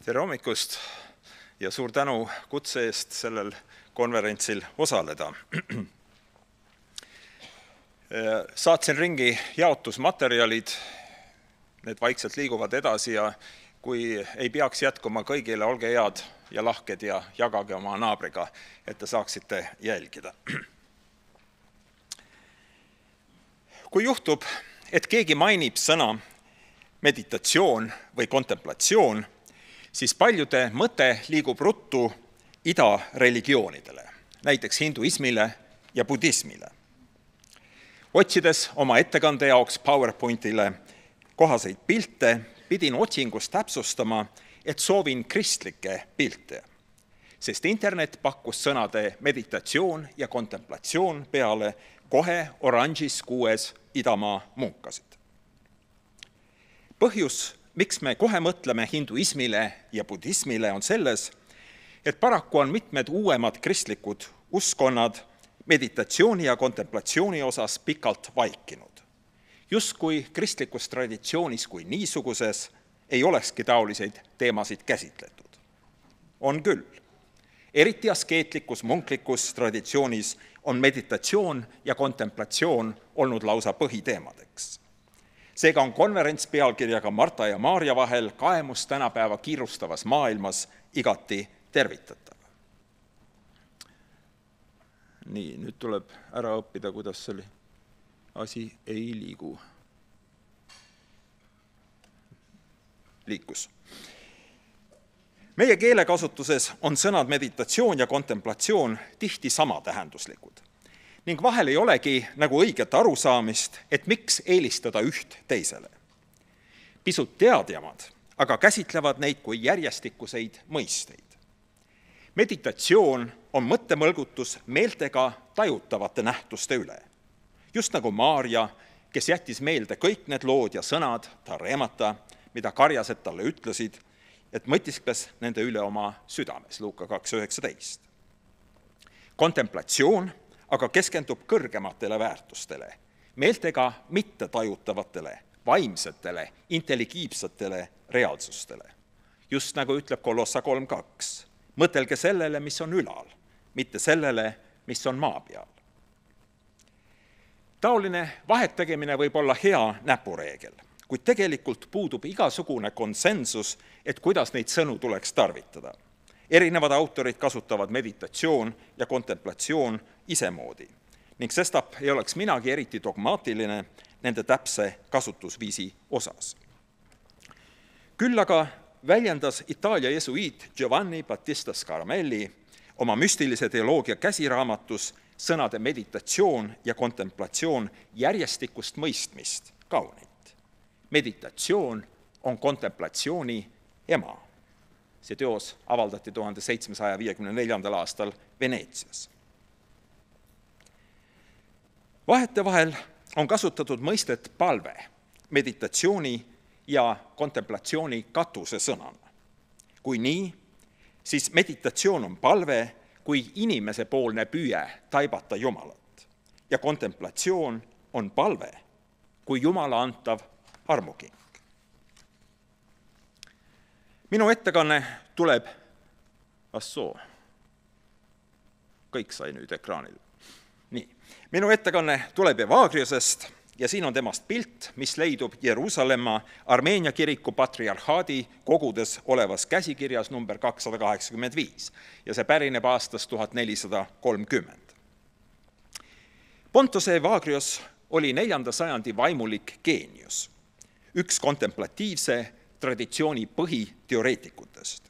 Tere hommikust ja suur tänu kutse eest sellel konverentsil osaleda. Saatsin ringi jaotusmaterjalid, need vaikselt liiguvad edasi ja kui ei peaks jätkuma kõigile, olge head ja lahked ja jagage oma naabriga, et te saaksite jälgida. Kui juhtub, et keegi mainib sõna meditatsioon või kontemplatsioon, siis paljude mõte liigub ruttu ida religioonidele, näiteks hinduismile ja budismile. Otsides oma ettekande jaoks PowerPointile kohaseid pilte, pidin otsingus täpsustama, et soovin kristlikke pilte, sest internet pakkus sõnade meditatsioon ja kontemplatsioon peale kohe oranžis 6 idamaa munkasid. Põhjus, miks me kohe mõtleme hinduismile ja budismile, on selles, et paraku on mitmed uuemad kristlikud uskonnad meditatsiooni ja kontemplatsiooni osas pikalt vaikinud. Justkui kristlikus traditsioonis kui niisuguses ei olekski taoliseid teemasid käsitletud. On küll. Eriti askeetlikus, munklikus traditsioonis on meditatsioon ja kontemplatsioon olnud lausa põhiteemadeks. Seega on konverents pealkirjaga Marta ja Maarja vahel kaemus tänapäeva kiirustavas maailmas igati tervitatav. Nii, nüüd tuleb ära õppida, kuidas selle asi ei liigu. Liikus. Meie keelekasutuses on sõnad meditatsioon ja kontemplatsioon tihti samatähenduslikud. Ning vahel ei olegi nagu õiget arusaamist, et miks eelistada üht teisele. Pisut teadjamad, aga käsitlevad neid kui järjestikuseid mõisteid. Meditatsioon on mõttemõlgutus meeltega tajutavate nähtuste üle. Just nagu Maarja, kes jättis meelde kõik need lood ja sõnad, ta reemata, mida karjased talle ütlesid, et mõtiskles nende üle oma südames, Luuka 2.19. Kontemplatsioon aga keskendub kõrgematele väärtustele, meeltega mitte tajutavatele, vaimsetele, intelligiivsetele reaalsustele. Just nagu ütleb Kolossa 3.2. Mõtelge sellele, mis on ülal, mitte sellele, mis on maa peal. Taoline vahetegemine võib olla hea näpureegel, kuid tegelikult puudub igasugune konsensus, et kuidas neid sõnu tuleks tarvitada. Erinevad autorid kasutavad meditatsioon ja kontemplatsioon isemoodi ning sestap ei oleks minagi eriti dogmaatiline nende täpse kasutusviisi osas. Küll aga väljendas Itaalia jesuiit Giovanni Battista Scaramelli oma müstilise teoloogia käsiraamatus sõnade meditatsioon ja kontemplatsioon järjestikust mõistmist kaunit. Meditatsioon on kontemplatsiooni ema. See teos avaldati 1754. aastal Veneetsias. Vahetevahel on kasutatud mõistet palve, meditatsiooni ja kontemplatsiooni katuse sõnana. Kui nii, siis meditatsioon on palve kui inimesepoolne püüe taibata Jumalat ja kontemplatsioon on palve kui Jumala antav armuking. Minu ettekanne tuleb, kõik sai nüüd ekraanil. Nii, minu ettekanne tuleb Evagriosest ja siin on temast pilt, mis leidub Jeruusalemma Armeenia kiriku patriarhaadi kogudes olevas käsikirjas number 285 ja see pärineb aastast 1430. Pontos Evagrios oli 4. sajandi vaimulik geenius, üks kontemplatiivse traditsiooni põhiteoreetikutest.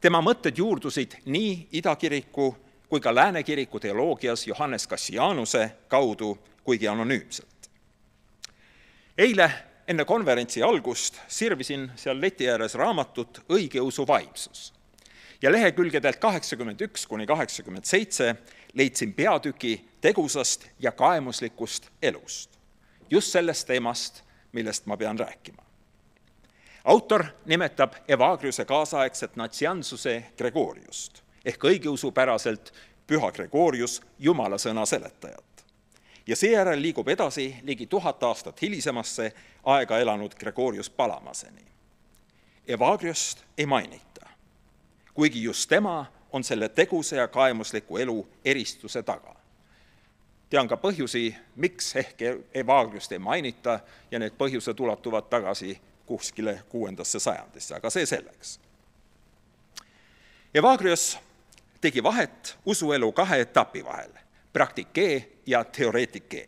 Tema mõtted juurdusid nii idakiriku kui ka läänekiriku teoloogias Johannes Cassianuse kaudu, kuigi anonüümselt. Eile enne konverentsi algust sirvisin seal leti ääres raamatut Õigeusu vaimsus ja lehekülgedelt 81–87 leidsin peatüki tegusast ja kaemuslikust elust, just sellest teemast, millest ma pean rääkima. Autor nimetab Evagriuse kaasaegset natsiansuse Gregoriust ehk õigeusupäraselt Püha Gregorius Jumala sõna seletajat. Ja seejärel liigub edasi ligi 1000 aastat hilisemasse aega elanud Gregorius Palamaseni. Evagriost ei mainita, kuigi just tema on selle tegusa ja kaemusliku elu eristuse taga. Tean ka põhjusi, miks ehk Evagriost ei mainita ja need põhjused ulatuvad tagasi kuskile 6. sajandisse, aga see selleks. Evagrios tegi vahet usuelu 2 etapi vahel, praktikee ja teoreetikee.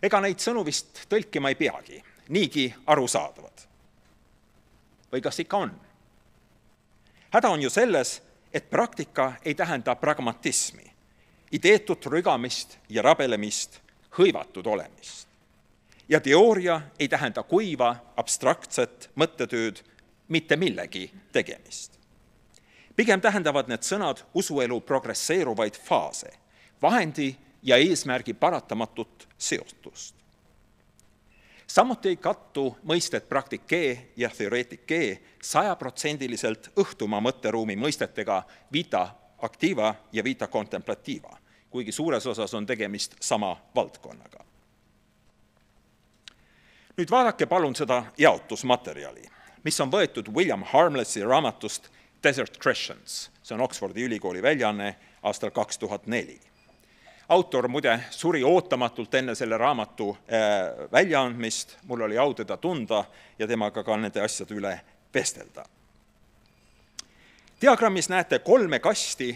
Ega neid sõnu vist tõlkima ei peagi, niigi arusaadavad. Või kas ikka on? Häda on ju selles, et praktika ei tähenda pragmatismi, ideetut rügamist ja rabelemist, hõivatud olemist. Ja teooria ei tähenda kuiva, abstraktset mõttetööd, mitte millegi tegemist. Pigem tähendavad need sõnad usuelu progresseeruvaid faase, vahendi ja eesmärgi paratamatut seostust. Samuti ei kattu mõisted praktikee ja teoreetikee 100% õhtuma mõtteruumi mõistetega vita activa ja vita contemplativa, kuigi suures osas on tegemist sama valdkonnaga. Nüüd vaadake palun seda jaotusmaterjali, mis on võetud William Harmlessi raamatust Desert Christians. See on Oxfordi ülikooli väljaanne aastal 2004. Autor muide suri ootamatult enne selle raamatu väljaandmist, mul oli au teda tunda ja temaga ka nende asjade üle vestelda. Diagrammis näete 3 kasti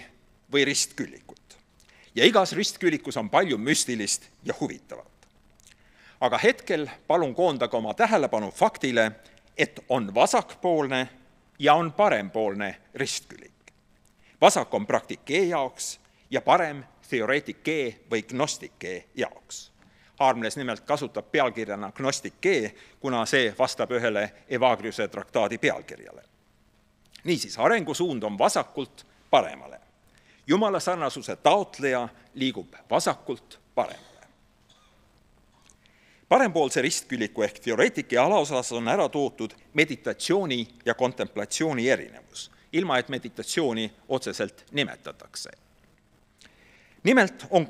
või ristküllikut ja igas ristküllikus on palju müstilist ja huvitavat. Aga hetkel palun koondage oma tähelepanu faktile, et on vasakpoolne ja on parempoolne ristküllik. Vasak on praktikee jaoks ja parem teoreetikee või gnostikee jaoks. Harmles nimelt kasutab pealkirjana gnostikee, kuna see vastab ühele Evagriose traktaadi pealkirjale. Niisiis, arengusuund on vasakult paremale. Jumala sarnasuse taotleja liigub vasakult paremale. Parempoolse ristkülliku ehk teoreetike alaosas on ära toodud meditatsiooni ja kontemplatsiooni erinevus, ilma et meditatsiooni otseselt nimetatakse. Nimelt on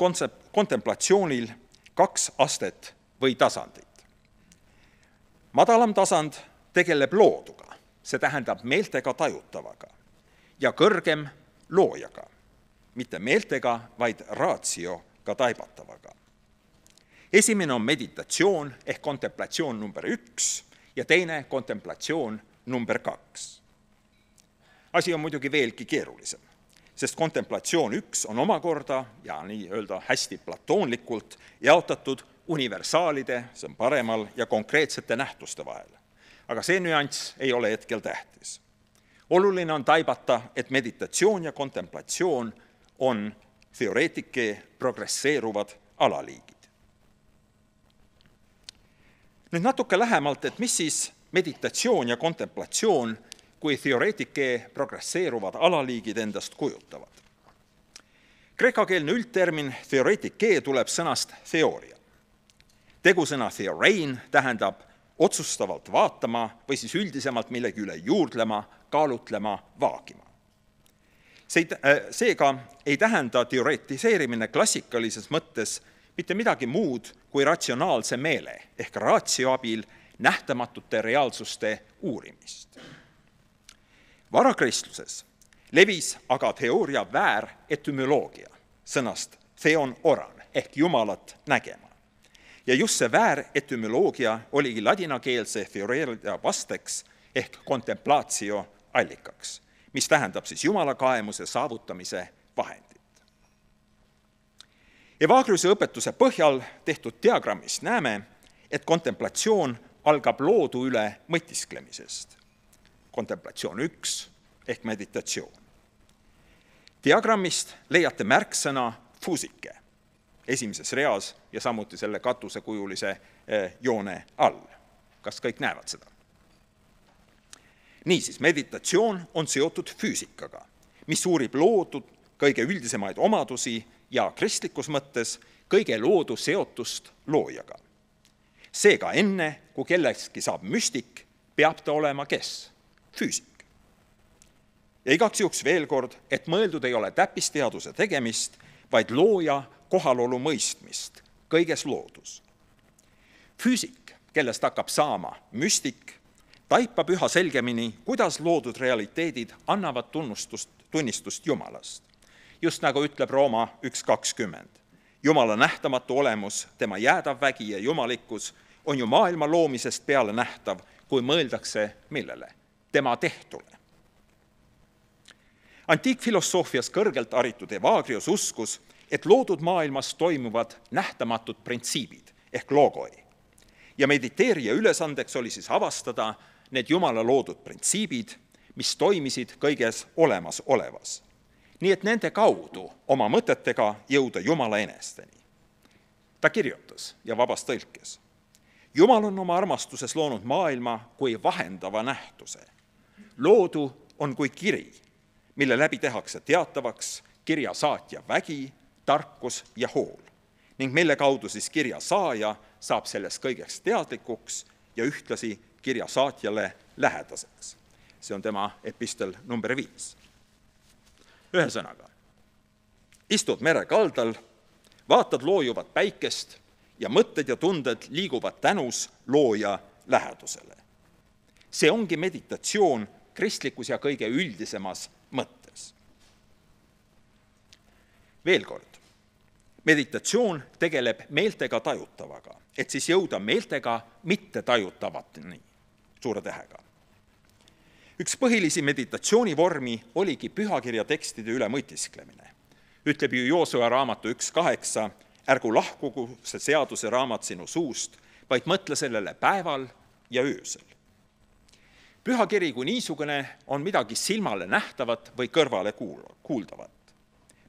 kontemplatsioonil 2 astet või tasandit. Madalam tasand tegeleb looduga, see tähendab meeltega tajutavaga, ja kõrgem loojaga, mitte meeltega, vaid ratsioga taibatavaga. Esimene on meditatsioon ehk kontemplatsioon number 1 ja teine kontemplatsioon number 2. Asi on muidugi veelgi keerulisem, sest kontemplatsioon 1 on omakorda ja nii-öelda hästi platoonlikult jaotatud universaalide, see on paremal, ja konkreetsete nähtuste vahel. Aga see nüanss ei ole hetkel tähtis. Oluline on taibata, et meditatsioon ja kontemplatsioon on teoreetike progresseeruvad alaliigid. Nüüd natuke lähemalt, et mis siis meditatsioon ja kontemplatsioon kui teoreetike progresseeruvad alaliigid endast kujutavad. Kreekakeelne üldtermin teoreetikee tuleb sõnast teooria. Tegusõna theorein tähendab otsustavalt vaatama või siis üldisemalt millegi üle juurdlema, kaalutlema, vaagima. Seega ei tähenda teoretiseerimine klassikalises mõttes mitte midagi muud kui ratsionaalse meele ehk ratio abil nähtamatute reaalsuste uurimist. Varakristluses levis aga teooria vääretümoloogia sõnast theon oran ehk jumalat nägema. Ja just see vääretümoloogia oligi ladinakeelse teooria vasteks ehk kontemplatio allikaks, mis tähendab siis jumala kaemuse saavutamise vahendit. Evagriuse õpetuse põhjal tehtud diagrammis näeme, et kontemplatsioon algab loodu üle mõtisklemisest. Kontemplatsioon 1 ehk meditatsioon. Diagrammist leiate märksõna fusike esimeses reas ja samuti selle katusekujulise joone all. Kas kõik näevad seda? Niisiis, meditatsioon on seotud füüsikaga, mis uurib loodud kõige üldisemaid omadusi ja kristlikus mõttes kõige loodu seotust loojaga. Seega enne, kui kellestki saab müstik, peab ta olema kes? Füüsik. Ja igaks juhuks veel kord, et mõeldud ei ole täppisteaduse tegemist, vaid looja kohalolu mõistmist kõiges loodus. Füüsik, kellest hakkab saama müstik, taipab üha selgemini, kuidas loodud realiteedid annavad tunnistust Jumalast. Just nagu ütleb Rooma 1.20. Jumala nähtamatu olemus, tema jäädav vägi ja jumalikkus on ju maailma loomisest peale nähtav, kui mõeldakse millele? Tema tehtule. Antiikfilosoofias kõrgelt haritud Evagrius uskus, et loodud maailmas toimuvad nähtamatud printsiibid ehk logoi. Ja mediteerija ülesandeks oli siis avastada need Jumala loodud printsiibid, mis toimisid kõiges olemasolevas. Nii et nende kaudu oma mõtetega jõuda Jumala enesteni. Ta kirjutas ja vabas tõlkes. Jumal on oma armastuses loonud maailma kui vahendava nähtuse. Loodu on kui kiri, mille läbi tehakse teatavaks kirja saatja vägi, tarkus ja hool, ning mille kaudu siis kirja saaja saab sellest kõigeks teadlikuks ja ühtlasi kirja saatjale lähedaseks. See on tema epistel number 5. Ühesõnaga, istud mere kaldal, vaatad loojuvat päikest ja mõtted ja tunded liiguvad tänus looja lähedusele. See ongi meditatsioon kristlikus ja kõige üldisemas mõttes. Veel kord, meditatsioon tegeleb meeltega tajutavaga, et siis jõuda meeltega mitte tajutavateni, suure tähega. Üks põhilisi meditatsioonivormi oligi pühakirja tekstide üle mõtisklemine. Ütleb ju Joosua raamatu 1.8, ärgu lahkugu see seaduse raamat sinu suust, vaid mõtle sellele päeval ja öösel. Pühakiri kui niisugune on midagi silmale nähtavat või kõrvale kuuldavat.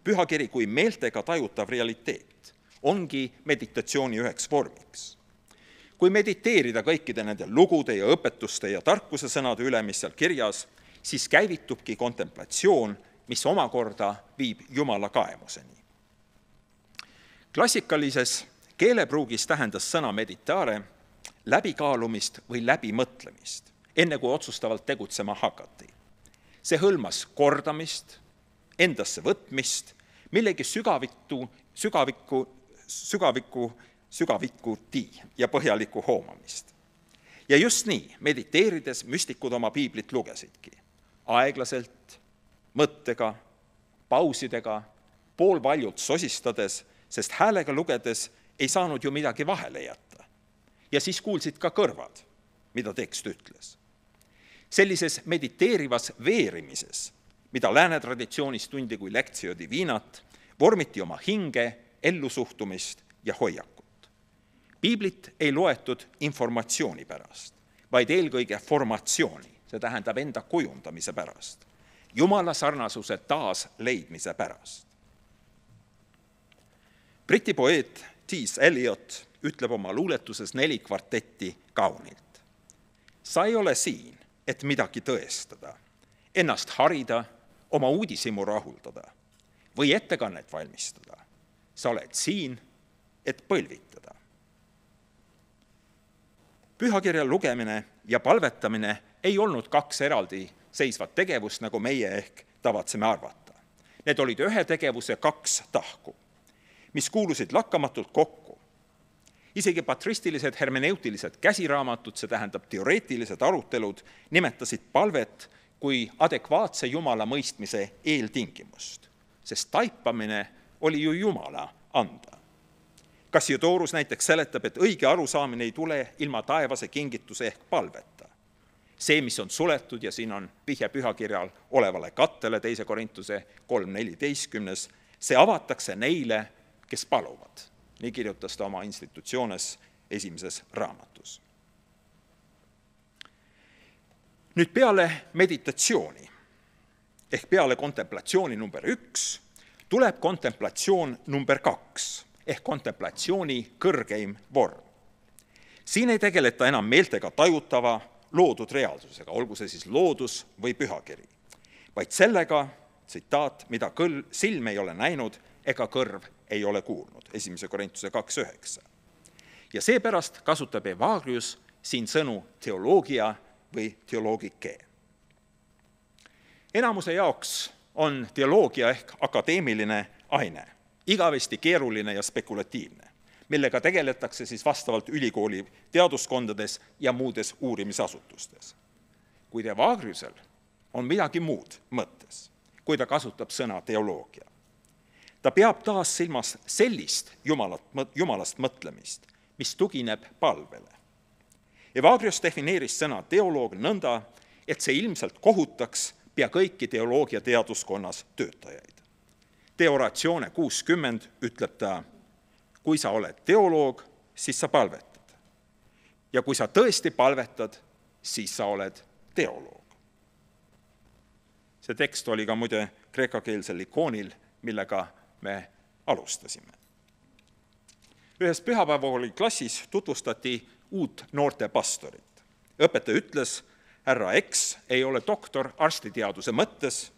Pühakiri kui meeltega tajutav realiteet ongi meditatsiooni üheks vormiks. Kui mediteerida kõikide nende lugude ja õpetuste ja tarkuse sõnade üle, mis seal kirjas, siis käivitubki kontemplatsioon, mis omakorda viib Jumala kaemuseni. Klassikalises keelepruugis tähendas sõna meditare läbikaalumist või läbimõtlemist, enne kui otsustavalt tegutsema hakati. See hõlmas kordamist, endasse võtmist, millegi sügavikuti ja põhjalikku hoomamist. Ja just nii, mediteerides müstikud oma piiblit lugesidki. Aeglaselt, mõttega, pausidega, poolvaljult sosistades, sest häälega lugedes ei saanud ju midagi vahele jätta. Ja siis kuulsid ka kõrvad, mida tekst ütles. Sellises mediteerivas veerimises, mida lääne traditsioonis tundi kui lectio divinat, vormiti oma hinge, ellusuhtumist ja hoiakut. Piiblit ei loetud informatsiooni pärast, vaid eelkõige formatsiooni, see tähendab enda kujundamise pärast, Jumala sarnasuse taas leidmise pärast. Briti poeet T.S. Eliot ütleb oma luuletuses 4 kvartetti kaunilt. Sa ei ole siin, et midagi tõestada, ennast harida, oma uudishimu rahuldada või ettekannet valmistada. Sa oled siin, et põlvitada. Pühakirja lugemine ja palvetamine ei olnud 2 eraldi seisvat tegevust, nagu meie ehk tavatseme arvata. Need olid ühe tegevuse 2 tahku, mis kuulusid lakkamatult kokku. Isegi patristilised hermeneutilised käsiraamatud, see tähendab teoreetilised arutelud, nimetasid palvet kui adekvaatse Jumala mõistmise eeltingimust, sest taipamine oli ju Jumala anda. Cassiodorus näiteks seletab, et õige arusaamine ei tule ilma taevase kingituse ehk palveta. See, mis on suletud, ja siin on vihje pühakirjal olevale kattele 2. Korintuse 3.14, see avatakse neile, kes paluvad. Nii kirjutas ta oma institutsioones 1. raamatus. Nüüd peale meditatsiooni ehk peale kontemplatsiooni number 1 tuleb kontemplatsioon number 2 ehk kontemplatsiooni kõrgeim vorm. Siin ei tegeleta enam meeltega tajutava loodud reaalsusega, olgu see siis loodus või pühakiri, vaid sellega, tsitaat, mida silm ei ole näinud ega kõrv ei ole kuulnud, 1. Korintuse 2.9. Ja seepärast kasutab Evagrius siin sõnu teoloogia või teoloogike. Enamuse jaoks on teoloogia ehk akadeemiline aine, igavesti keeruline ja spekulatiivne, millega tegeletakse siis vastavalt ülikooli teaduskondades ja muudes uurimisasutustes. kuid Evagriusel on midagi muud mõttes, kui ta kasutab sõna teoloogia. Ta peab taas silmas sellist jumalast mõtlemist, mis tugineb palvele. Evagrius defineeris sõna teoloog nõnda, et see ilmselt kohutaks pea kõiki teoloogia teaduskonnas töötajaid. De Oratione 60 ütleb ta, kui sa oled teoloog, siis sa palvetad. Ja kui sa tõesti palvetad, siis sa oled teoloog. See tekst oli ka muide kreekakeelsel ikoonil, millega me alustasime. Ühes pühapäevakooli klassis tutvustati uut noorte pastorit. Õpetaja ütles, härra X ei ole doktor arstiteaduse mõttes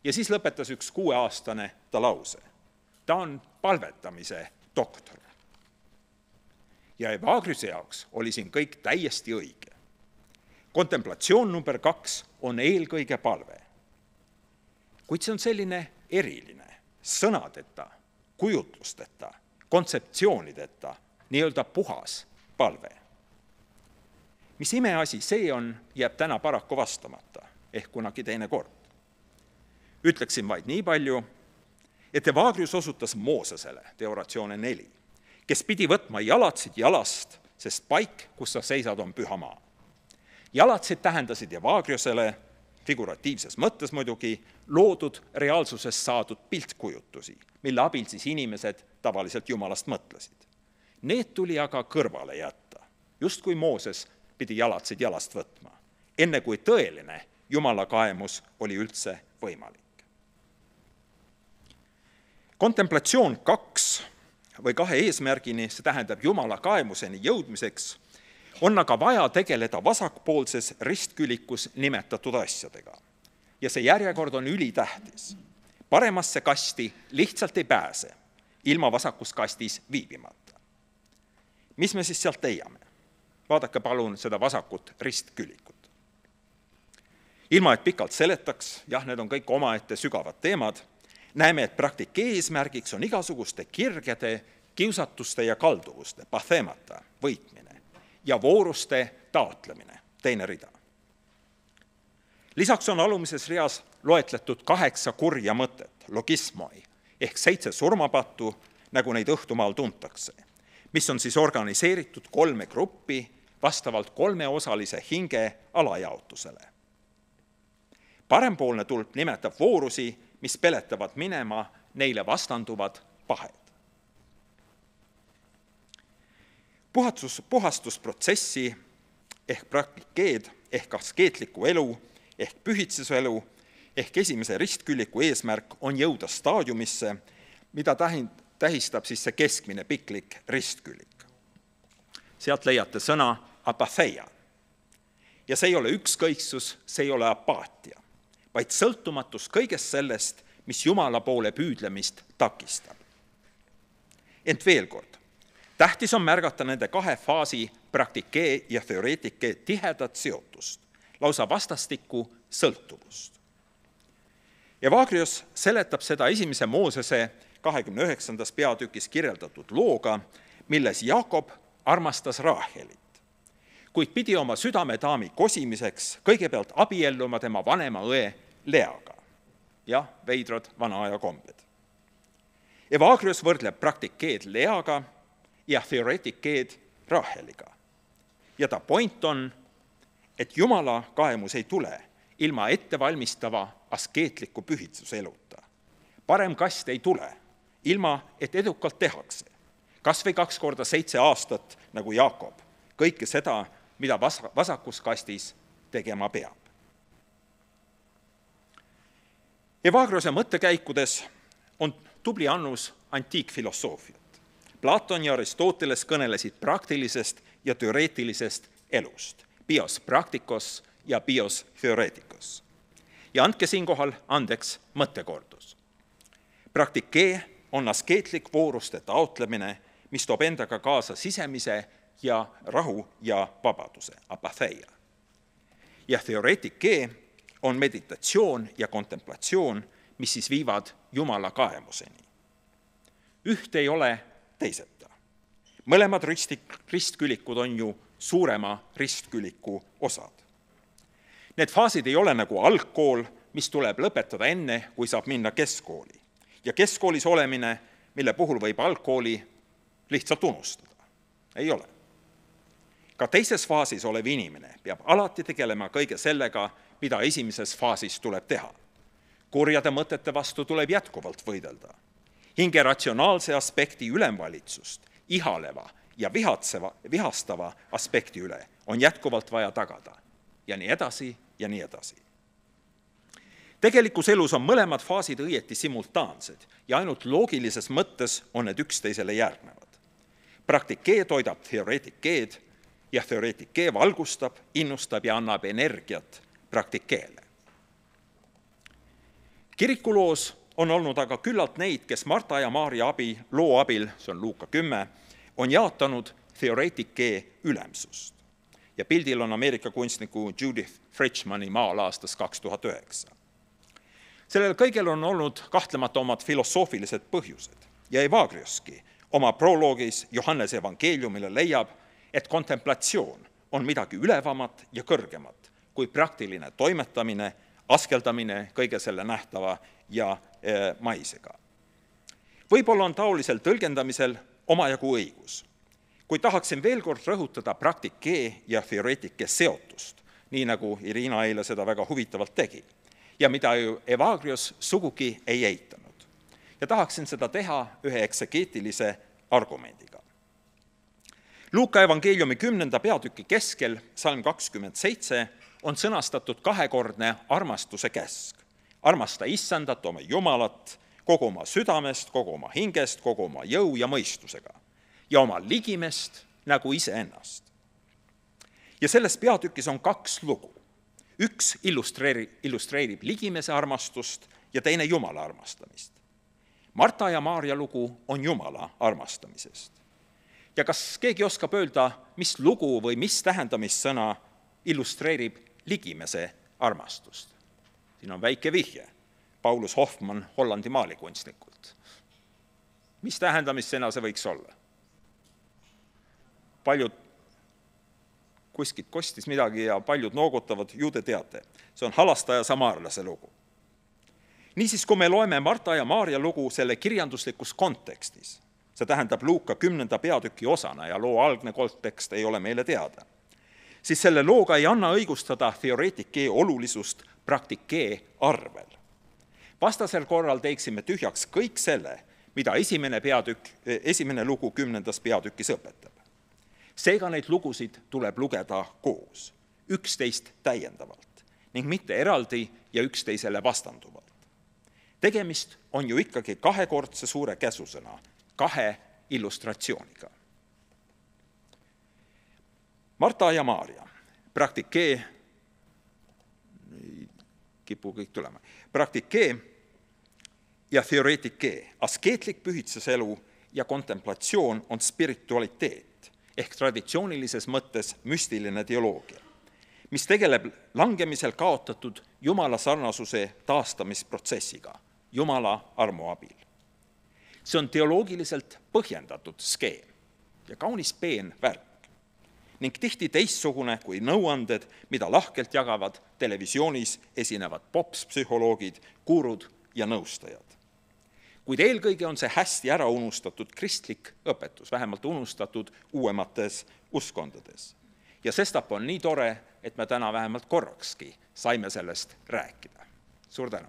ja siis lõpetas üks 6-aastane ta lause. Ta on palvetamise doktor. Ja Evagriuse jaoks oli siin kõik täiesti õige. Kontemplatsioon number 2 on eelkõige palve. Kuid see on selline eriline, sõnadeta, kujutlusteta, kontseptsioonideta, nii-öelda puhas palve. Mis imeasi see on, jääb täna paraku vastamata, ehk kunagi teine kord. Ütleksin vaid nii palju, et Evagrius osutas Moosesele, De Oratione 4, kes pidi võtma jalatsid jalast, sest paik, kus sa seisad, on püha maa. Jalatsid tähendasid Evagriusele, figuratiivses mõttes muidugi, loodud reaalsusest saadud piltkujutusi, mille abil siis inimesed tavaliselt jumalast mõtlesid. Need tuli aga kõrvale jätta, just kui Mooses pidi jalatsid jalast võtma, enne kui tõeline jumala kaemus oli üldse võimalik. Kontemplatsioon 2 või 2 eesmärgini, see tähendab jumala kaemuseni jõudmiseks, on aga vaja tegeleda vasakpoolses ristkülikus nimetatud asjadega. Ja see järjekord on ülitähtis. Paremasse kasti lihtsalt ei pääse, ilma vasakus kastis viibimata. Mis me siis sealt leiame? Vaadake palun seda vasakut ristkülikut. Ilma, et pikalt seletaks, jah, need on kõik omaette sügavad teemad, näeme, et praktike eesmärgiks on igasuguste kirgede, kiusatuste ja kalduvuste, pathemata, võitmine ja vooruste taotlemine, teine rida. Lisaks on alumises reas loetletud 8 kurja mõtet, logismoi, ehk 7 surmapattu, nagu neid õhtumaal tuntakse, mis on siis organiseeritud 3 gruppi vastavalt 3-osalise hinge alajaotusele. Parempoolne tulp nimetab voorusi, mis peletavad minema neile vastanduvad pahed. Puhastusprotsessi ehk praktikeed ehk askeetliku elu ehk pühitsuse elu ehk esimese ristküliku eesmärk on jõuda staadiumisse, mida tähistab siis see keskmine piklik ristkülik. Sealt leiate sõna apatheia. Ja see ei ole ükskõiksus, see ei ole apaatia, vaid sõltumatus kõigest sellest, mis Jumala poole püüdlemist takistab. Ent veel kord, tähtis on märgata nende 2 faasi praktikee ja teoreetike tihedat seotust, lausa vastastikku sõltuvust. Evagrius seletab seda 1. Moosese 29. peatükis kirjeldatud looga, milles Jaakob armastas Raahelit, kuid pidi oma südamedaami kosimiseks kõigepealt abielluma tema vanema õe Leaga. Jah, veidrad vana aja kombed. Evagrius võrdleb praktikeed Leaga ja teoreetikeed Raaheliga. Ja ta point on, et Jumala kaemus ei tule ilma ettevalmistava askeetliku pühitsuse eluta. Parem kast ei tule, ilma et edukalt tehakse. Kas või 2 korda 7 aastat, nagu Jaakob, kõike seda, mida vasakus kastis tegema peab. Evagriuse mõttekäikudes on tubli annus antiikfilosoofiat. Platon ja Aristoteles kõnelesid praktilisest ja teoreetilisest elust, bios practicos ja bios theoreticos. Ja andke siinkohal andeks mõttekordus. Praktikee on askeetlik vooruste taotlemine, mis toob endaga kaasa sisemise ja rahu ja vabaduse, apatheia. Ja teoreetikee on meditatsioon ja kontemplatsioon, mis siis viivad Jumala kaemuseni. Üht ei ole teiseta. Mõlemad ristkülikud on ju suurema ristküliku osad. Need faasid ei ole nagu algkool, mis tuleb lõpetada enne, kui saab minna keskkooli. Ja keskkoolis olemine, mille puhul võib algkooli lihtsalt unustada. Ei ole. Ka teises faasis olev inimene peab alati tegelema kõige sellega, mida esimeses faasis tuleb teha. Kurjade mõtete vastu tuleb jätkuvalt võidelda. Hinge ratsionaalse aspekti ülemvalitsust, ihaleva ja vihastava aspekti üle on jätkuvalt vaja tagada. Ja nii edasi ja nii edasi. Tegelikus elus on mõlemad faasid õieti simultaansed ja ainult loogilises mõttes on need üksteisele järgnevad. Praktikee toidab teoreetikeed ja teoreetikee valgustab, innustab ja annab energiat praktikeele. Kirikuloos on olnud aga küllalt neid, kes Marta ja Maarja loo abil, see on Luuka 10, on jaotanud teoreetikee ülemsust. Ja pildil on Ameerika kunstniku Judith Fritschmani maal aastast 2009. Sellel kõigel on olnud kahtlemata omad filosoofilised põhjused ja Evagrioski oma proloogis Johannese evangeeliumile leiab, et kontemplatsioon on midagi ülevamat ja kõrgemat kui praktiline toimetamine, askeldamine kõige selle nähtava ja maisega. Võib-olla on taolisel tõlgendamisel omajagu õigus, kui tahaksin veel kord rõhutada praktikee ja teoreetike seotust, nii nagu Irina eile seda väga huvitavalt tegi, ja mida ju Evagrios sugugi ei eitanud. Ja tahaksin seda teha ühe eksegeetilise argumendiga. Luuka evangeeliumi 10. peatüki keskel, salm 27, on sõnastatud kahekordne armastuse käsk. Armasta Issandat, oma Jumalat, kogu oma südamest, kogu oma hingest, kogu oma jõu ja mõistusega ja oma ligimest nagu iseennast. Ja selles peatükis on 2 lugu. Üks illustreerib ligimese armastust ja teine Jumala armastamist. Marta ja Maarja lugu on Jumala armastamisest. Ja kas keegi oskab öelda, mis lugu või mis tähendamissõna illustreerib ligimese armastust? Siin on väike vihje. Paulus Hoffmann Hollandi maalikunstnikult. Mis tähendamissõna see võiks olla? Paljud kuskilt kostis midagi ja paljud noogutavad, ju te teate. See on halastaja samaarlase lugu. Niisiis, kui me loeme Marta ja Maarja lugu selle kirjanduslikus kontekstis, see tähendab Luuka 10. peatüki osana ja loo algne kontekst ei ole meile teada, siis selle looga ei anna õigustada teoreetikee olulisust praktikee arvel. Vastasel korral teeksime tühjaks kõik selle, mida esimene lugu 10. peatükis õpetab. Seega neid lugusid tuleb lugeda koos, üksteist täiendavalt ning mitte eraldi ja üksteisele vastanduvalt. Tegemist on ju ikkagi kahekordse suure käsusõna, 2 illustratsiooniga. Marta ja Maarja, praktikee, kipu kõik tulema, praktikee ja teoreetikee, askeetlik pühitsuselu ja kontemplatsioon on spiritualiteet ehk traditsioonilises mõttes müstiline teoloogia, mis tegeleb langemisel kaotatud Jumala sarnasuse taastamisprotsessiga, Jumala armu abil. See on teoloogiliselt põhjendatud skeem ja kaunis peen värk ning tihti teistsugune kui nõuanded, mida lahkelt jagavad televisioonis esinevad popspsühholoogid, gurud ja nõustajad. Kuid eelkõige on see hästi ära unustatud kristlik õpetus, vähemalt unustatud uuemates uskondades. Ja sestap on nii tore, et me täna vähemalt korrakski saime sellest rääkida. Suur tänu!